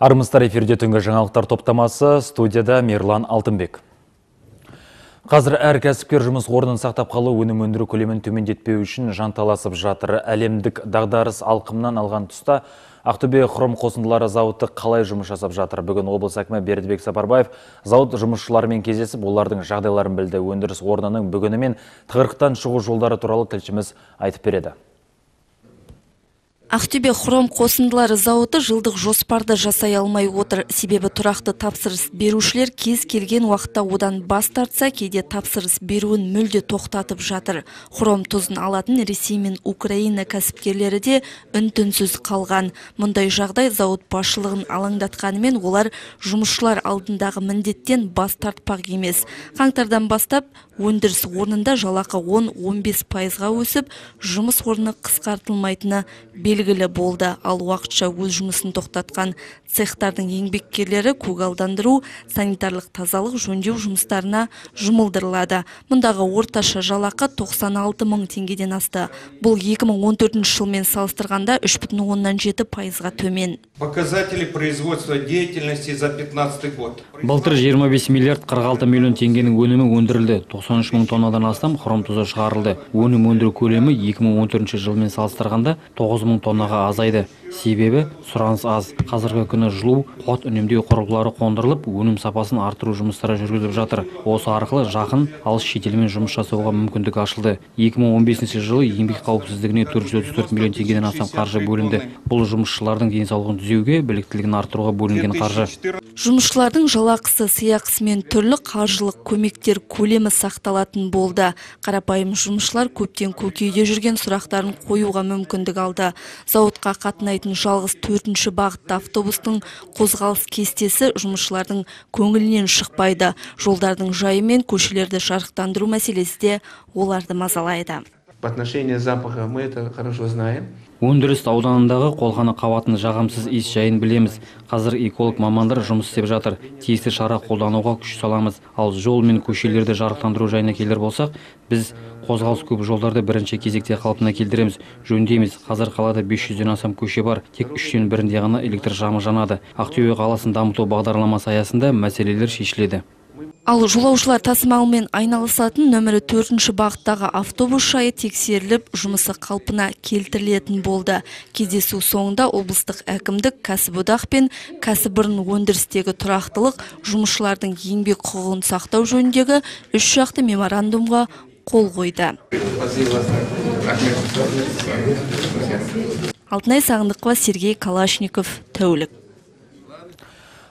Армысыздар, эфирде түнгі жаңалықтар топтамасы, студияда Мерлан Алтынбек. Қазір әр кәсіпкер жұмыс орнын сақтап қалу, өнім өндіру көлемін төмендетпеу үшін жанталасып жатыр. Әлемдік дағдарыс алқымнан алған тұста Ақтөбе хром қосындылары зауыты қалай жұмыс жасап жатыр? Бүгін облыс әкімі Бердібек Сапарбаев зауыт жұмысшыларымен кездесіп, олардың жағдайларын білді. Өндіріс орнының бүгіні мен тығырықтан шығу жолдары туралы тілшіміз айтып береді. Ақтөбе хром қосындылары зауыты жылдық жоспарды жасай алмай отыр. Себебі тұрақты тапсырыс берушілер кез келген уақытта одан бас тартса, кейде тапсырыс беруін мүлде тоқтатып жатыр. Хром тұзын алатын Ресей мен Украина кәсіпкерлері де үн-түнсіз қалған. Мұндай жағдай зауыт басшылығын алаңдатқанымен, олар жұмысшылар алдындағы міндеттен бас тартпақ емес. Қаңтардан бастап өндіріс орнында жалақы 10-15%-ға өсіп, жұмыс орны қысқартылмайтыны белгілі болды. Ал уақытша өз жұмысын тоқтатқан цехтардың еңбеккерлері көгалдандыру, санитарлық тазалық жөндеу жұмыстарына жұмылдырылады. Мұндағы орташа жалақы 96 мың теңгеден асты. Бұл 2014 жылмен салыстырғанда 3,7%-ға төмен. Показатели производства деятельности за 15 год. Былтыр 25 миллиард 46 миллион теңгенің өнімі өндірілді. 93 мың тоннадан астам хром тұзы шығарылды. Өнім өндіру көлемі 2014 жылмен салыстырғанда 9 мың тоннаға азайды. Себебі сұраныс аз. Қазіргі күні жылу, қуат үнемдеу құрылғылары қондырылып, өнім сапасын арттыру жұмыстары жүргізіліп жатыр. Осы арқылы жақын алыс шетелмен жұмыс жасауға мүмкіндік ашылды. 2015 жылы еңбек қауіпсіздігіне 434 миллион теңгеден астам қаржы бөлінді. Бұл жұмысшылардың денсаулығын түзеуге, біліктілігін арттыруға бөлінген қаржы. Жұмысшылардың жалақысы, сыйақысы мен түрлі қаржылық көмектер көлемі сақталатын болды. Қарапайым жұмысшылар көптен көкейде жүрген сұрақтарын қоюға мүмкіндік алды. Зауытқа қатынайтын жалғыз 4-ші бағытты автобустың қозғалыс кестесі жұмысшылардың көңілінен шықпайды. Жолдардың жайы мен көшелерді жарықтандыру мәселесі де оларды мазалайды. По отношению запаха мы это хорошо знаем. Өндіріс ауданындағы қолқаны қабатын жағымсыз иіс жайын білеміз. Қазір эколог мамандар жұмыс істеп жатыр. Тиісті шара қолдануға күш саламыз. Ал жол мен көшелерді жарықтандыру жайына келер болсақ, біз қозғалыс көп жолдарды бірінші кезекте қалпына келтіреміз, жөндейміз. Қазір қалада 500-ден астам көше бар, тек 3-тен бірінде ғана электр шамы жанады. Ақтөбе қаласын дамыту бағдарламасы аясында мәселелер шешіледі. Ал жолаушылар тасымалымен айналысатын нөмірі 4-ші бағыттағы автобус жайы тексеріліп, жұмысы қалпына келтірілетін болды. Кездесу соңында облыстық әкімдік, кәсіподақ пен кәсіпорын өндірістегі тұрақтылық, жұмысшылардың еңбек құқығын сақтау жөніндегі 3 жақты меморандумға қол қойды. Алтынай Сағындықова, Сергей Калашников, тәулік.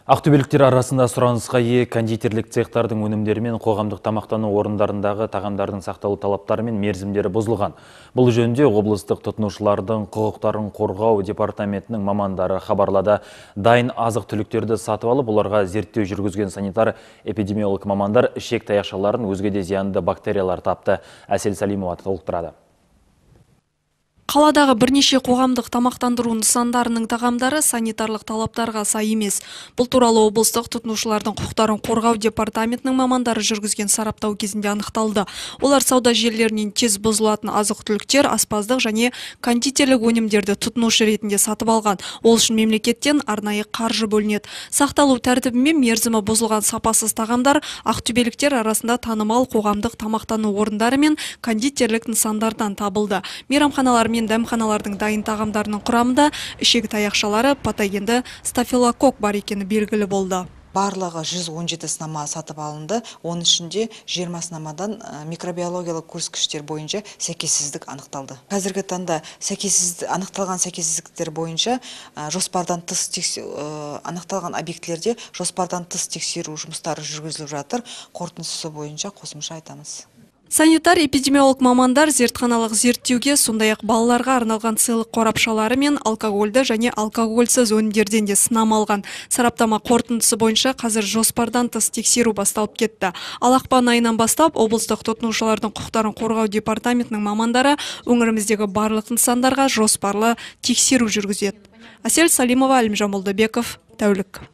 Ақтөбеліктер арасында сұранысқа ие кондитерлік цехтардың өнімдері мен қоғамдық тамақтану орындарындағы тағамдардың сақталу талаптары мен мерзімдері бұзылған. Бұл жөнінде облыстық тұтынушылардың құқықтарын қорғау департаментінің мамандары хабарлады. Дайын азық-түліктерді сатып алып, оларға зерттеу жүргізген санитар-эпидемиолог мамандар ішек таяқшаларын, өзге де зиянды бактериялар тапты. Әсел Салимова толықтырады. Қаладағы бірнеше қоғамдық тамақтандыру нысандарының тағамдары санитарлық талаптарға сай емес. Бұл туралы облыстық тұтынушылардың құқықтарын қорғау департаментінің мамандары жүргізген сараптау кезінде анықталды. Олар сауда желілерінен тез бұзылатын азық-түліктер, аспаздық және кондитерлік өнімдерді тұтынушы ретінде сатып алған. Ол үшін мемлекеттен арнайы қаржы бөлінеді. Сақталу тәртібімен мерзімі бұзылған сапасыз тағамдар ақтөбеліктер арасында танымал қоғамдық тамақтану орындары мен кондитерлік нысандардан табылды. Мейрамханалар мен дәмханалардың дайын тағамдарының құрамында ішек таяқшалары, патогенді стафилококк бар екені белгілі болды. Барлығы 117 сынама сатып алынды. Оның ішінде 20 сынамадан микробиологиялық көрсеткіштер бойынша сәйкессіздік анықталды. Қазіргі таңда анықталған сәйкессіздіктер бойынша жоспардан тыс анықталған объектілерде жоспардан тыс тексеру жұмыстары жүргізіліп жатыр. Қорытындысы бойынша қосымша айтамыз. Санитар-эпидемиолог мамандар зертханалық зерттеуге, сондай-ақ балаларға арналған сыйлық қорапшалары мен алкогольді және алкогольсіз өнімдерден де сынама алған. Сараптама қорытындысы бойынша қазір жоспардан тыс тексеру басталып кетті. Ал ақпан айынан бастап облыстық тұтынушылардың құқықтарын қорғау департаментінің мамандары өңіріміздегі барлық нысандарға жоспарлы тексеру жүргізеді. Әсел Салимова, Әлімжан Молдабеков, тәулік.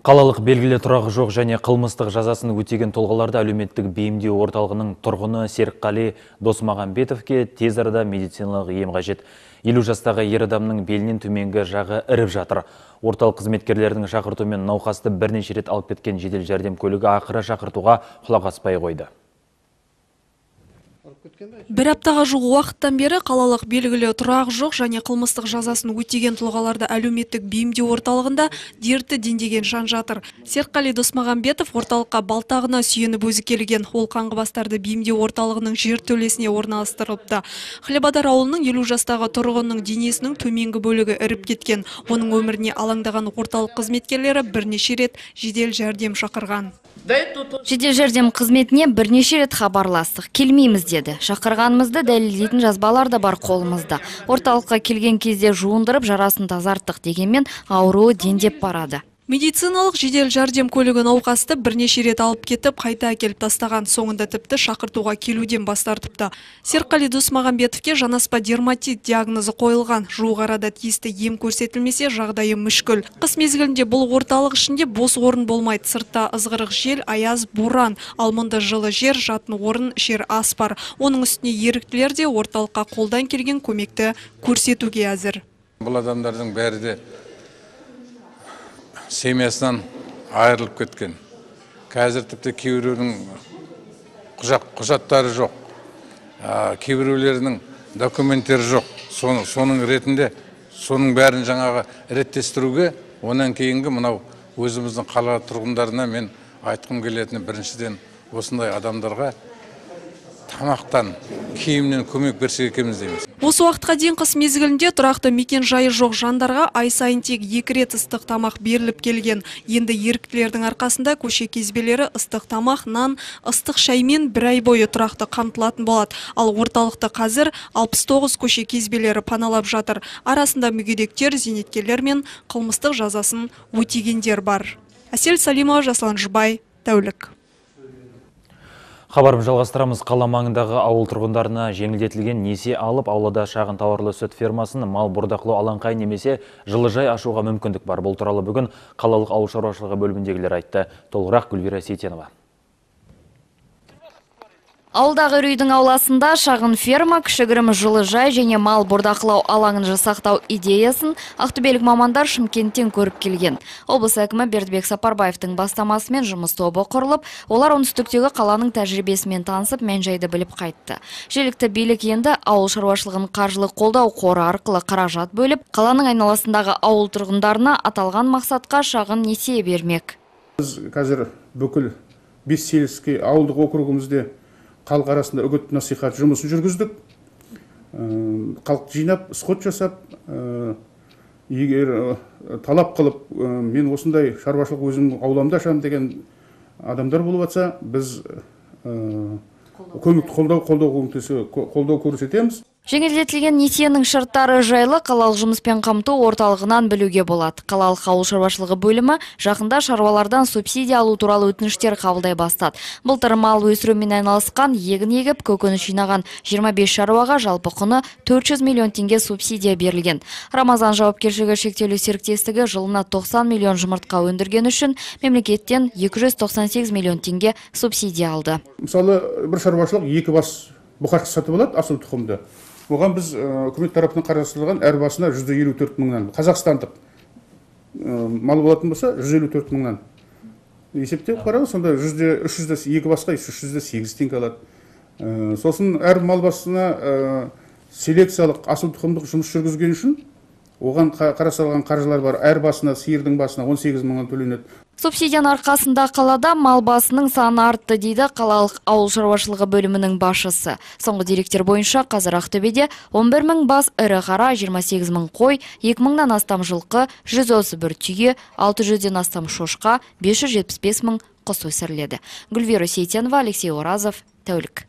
Қалалық белгілі тұрағы жоқ және қылмыстық жазасын өтеген тұлғаларды әлеуметтік бейімдеу орталығының тұрғыны Серікқали Досмағамбетовке тез арада медициналық ем қажет. 50 жастағы ер адамның белінен төменгі жағы іріп жатыр. Орталық қызметкерлерінің шақыртуымен науқасты бірнеше рет алып кеткен жедел жәрдем көлігі ақыры шақыртуға құлақ аспай қойды. Бір аптаға жуық уақыттан бері қалалық белгілі тұрағы жоқ және қылмыстық жазасын өтеген тұлғаларды әлеуметтік бейімдеу орталығында дерті дендеген жан жатыр. Серікқали Досмағамбетов орталыққа балтағына сүйеніп өзі келген. Ол қаңғыбастарды бейімдеу орталығының жертөлесіне орналастырылыпты. Хлебадар ауылының 50 жастағы тұрғынның денесінің төменгі бөлігі іріп кеткен. Оның өміріне алаңдаған орталық қызметкерлері бірнеше рет жедел жәрдем шақырған. Жедел жәрдем қызметіне бірнеше рет хабарластық. Келмейміз деді. Шақырғанымызды дәлелдейтін жазбалар да бар қолымызда. Орталыққа келген кезде жуындырып жарасын тазарттық дегенмен ауруы дендеп барады. Медициналық жедел жәрдем көлігі науқасты бірнеше рет алып кетіп, қайта әкеліп тастаған. Соңында тіпті шақыртуға келуден бас тартыпты. Серікқали Досмағамбетовке жанаспа дерматит диагнозы қойылған. Жуық арада тиісті ем көрсетілмесе, жағдайы мүшкіл. Қыс мезгілінде бұл орталық ішінде бос орын болмайды. Сыртта ызғырық жел, аяз, боран. Ал мұнда жылы жер, жатын орын, ішер ас бар. Оның үстіне еріктілер де орталыққа қолдан келген көмекті көрсетуге әзір. Бұл адамдардың бәрі де семьясынан айырылып кеткен. Қазір тіпті кейбіреудің құжаттары жоқ, кейбіреулерінің документтері жоқ. Соның ретінде, соның бәрін жаңағы реттестіруге, онан кейінгі мынау өзіміздің қала тұрғындарына мен айтқым келетіні біріншіден осындай адамдарға тамақтан, киімнен көмек берсек екенбіз дейміз. Осы уақытқа дейін қыс мезгілінде тұрақты мекен жайы жоқ жандарға ай сайын тек 2 рет ыстық тамақ беріліп келген. Енді еріктілердің арқасында көше кезбелері ыстық тамақ, нан, ыстық шаймен бір ай бойы тұрақты қамтылатын болады. Ал орталықты қазір 69 көше кезбелері паналап жатыр. Арасында мүгедектер, зейнеткерлер мен қылмыстық жазасын өтегендер бар. Әсел Салимова, Жаслан Жұбай, тәулік. Хабарым жалғастырамыз. Қала маңындағы ауыл тұрғындарына жеңілдетілген несие алып, аулада шағын тауарлы сүт фермасын, мал бордақылау алаңқай немесе жылыжай ашуға мүмкіндік бар. Бұл туралы бүгін қалалық ауыл шаруашылығы бөліміндегілер айтты. Толығырақ Гүлвира Сейтенова. Ауылдағы үйдің ауласында шағын ферма, кішігірім жылыжай және мал бордақылау алаңын жасақтау идеясын ақтөбелік мамандар Шымкенттен көріп келген. Облыс әкімі Бердібек Сапарбаевтың бастамасымен жұмыс тобы құрылып, олар оңтүстіктегі қаланың тәжірибесімен танысып, мән-жайды біліп қайтты. Жергілікті билік енді ауыл шаруашылығын қаржылық қолдау қоры арқылы қаражат бөліп, қаланың айналасындағы ауыл тұрғындарына аталған мақсатқа шағын несие бермек. Біз қазір бүкіл 5 селоске ауылдық округімізде халық арасында үгіт насихат жұмысын жүргіздік. Халық жинап, сход жасап, егер талап қылып, мен осындай шаруашылық өзім ауламда ашамын деген адамдар болып жатса, біз қолдау көрсетеміз. Жеңілдетілген несиенің шарттары жайлы қалалық жұмыспен қамту орталығынан білуге болады. Қалалық ауыл шаруашылығы бөлімі жақында шаруалардан субсидия алу туралы өтініштер қабылдай бастады. Былтыр мал өсірумен айналысқан, егін егіп, көкөніс жинаған 25 шаруаға жалпы құны 400 миллион теңге субсидия берілген. Рамазан жауапкершілігі шектеулі серіктестігі жылына 90 миллион жұмыртқа өндірген үшін мемлекеттен 298 миллион теңге субсидия алды. Мысалы, бір шаруашылық 2 бас бұқашқа сатып алады, асыл тұқымды. Оған біз үкімет тарапынан қарастырылған әр басына 154 мыңнан. Қазақстандық мал болатын болса 154 мыңнан. Есептеп қарау, сонда 302 басқа 308 теңге алады. Сосын әр мал басына селекциялық асыл тұқымдық жұмыс жүргізген үшін оған қарастырылған қаржылар бар. Әр басына, сиырдың басына 18 мыңнан төленеді. Субсидияның арқасында қалада мал басының саны артты дейді қалалық ауыл шаруашылығы бөлімінің басшысы. Соңғы деректер бойынша қазір Ақтөбеде 11 мың бас ірі қара, 28 мың қой, 2 мыңнан астам жылқы, 131 түйе, 600-ден астам шошқа, 575 мың құс өсіріледі. Гүлвира Сейтенова, Алексей Оразов, тәулік.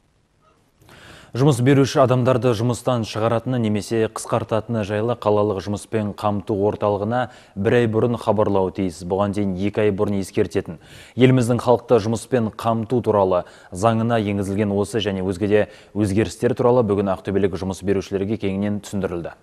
Жұмыс беруші адамдарды жұмыстан шығаратыны немесе қысқартатыны жайлы қалалық жұмыспен қамту орталығына 1 ай бұрын хабарлауы тиіс. Бұған дейін 2 ай бұрын ескертетін. Еліміздің халықты жұмыспен қамту туралы заңына енгізілген осы және өзгеде өзгерістер туралы бүгін ақтөбелік жұмыс берушілерге кеңінен түсіндірілді.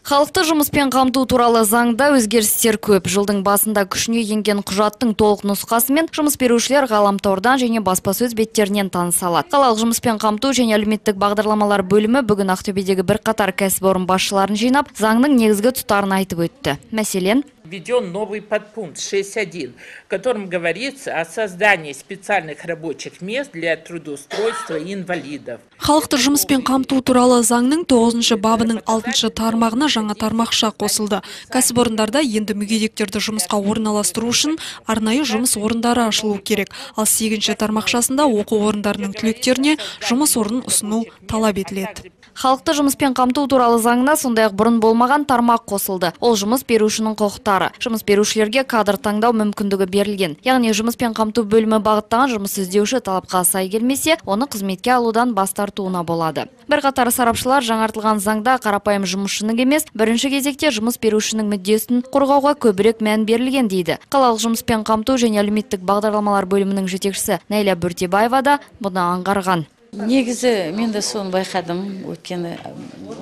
Халықты жұмыспен қамту туралы заңда өзгерістер көп. Жылдың басында күшіне енген құжаттың толық нұсқасымен жұмыс берушілер ғаламтордан және баспасөз беттерінен таныса алады. Қалалық жұмыспен қамту және әлеуметтік бағдарламалар бөлімі бүгін Ақтөбедегі бірқатар кәсіпорын басшыларын жинап, заңның негізгі тұстарын айтып өтті. Мәселен, введен новый подпункт 61, в котором говорится о создании специальных рабочих мест для трудоустройства инвалидов. Халықты жұмыспен қамту туралы заңның 9 бабының 6 тармағына жаңа тармақша қосылды. Кәсіпорындарда енді мүгедектерді жұмысқа орналастыру үшін арнайы жұмыс орындары ашылу керек. Ал 8 тармақшасында оқу орындарының түлектеріне жұмыс орнын ұсыну талап етіледі. Халықты жұмыспен қамту туралы заңына сондай-ақ бұрын болмаған тармақ қосылды. Ол жұмыс берушінің құқықтары. Жұмыс берушілерге кадр таңдау мүмкіндігі берілген. Яғни жұмыспен қамту бөлімі бағыттаған жұмыс іздеуші талапқа сай келмесе, оны қызметке алудан бас тартуына болады. Бірқатар сарапшылар жаңартылған заңда қарапайым жұмысшының емес, бірінші кезекте жұмыс берушінің мүддесін қорғауға көбірек мән берілген дейді. Қалалық жұмыспен қамту және әлеуметтік бағдарламалар бөлімінің жетекшісі Найля Бүртебаева да бұны аңғарған. Негізі мен де соны байқадым, өткені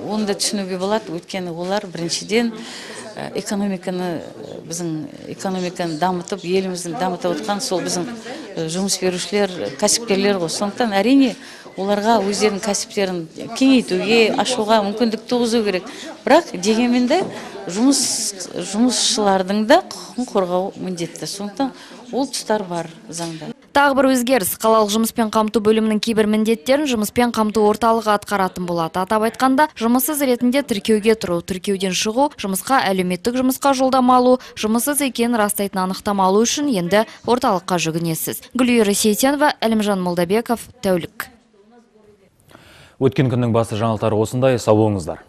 оны да түсінуге болады, өткені олар біріншіден біздің экономиканы дамытып, еліміздің дамытып отқан сол біздің жұмыс берушілер, кәсіпкерлер ғой. Сондықтан әрине оларға өздерінің кәсіптерін кеңейтуге, ашуға мүмкіндік туғызу керек. Бірақ дегенмен де жұмысшылардың да құқығын қорғау міндетті. Сондықтан ол тұстар бар заңда. Тағы бір өзгеріс, қалалық жұмыспен қамту бөлімінің кейбір міндеттерін жұмыспен қамту орталығы атқаратын болады. Атап айтқанда, жұмыссыз ретінде тіркеуге тұру, тіркеуден шығу, жұмысқа әлеуметтік жұмысқа жолдама алу, жұмыссыз екенін растайтын анықтама алу үшін енді орталыққа жүгінесіз. Гүлира Сейтенова, Әлімжан Молдабеков, тәулік. Өткен күннің басы жаңалықтары осындай, сау болыңыздар.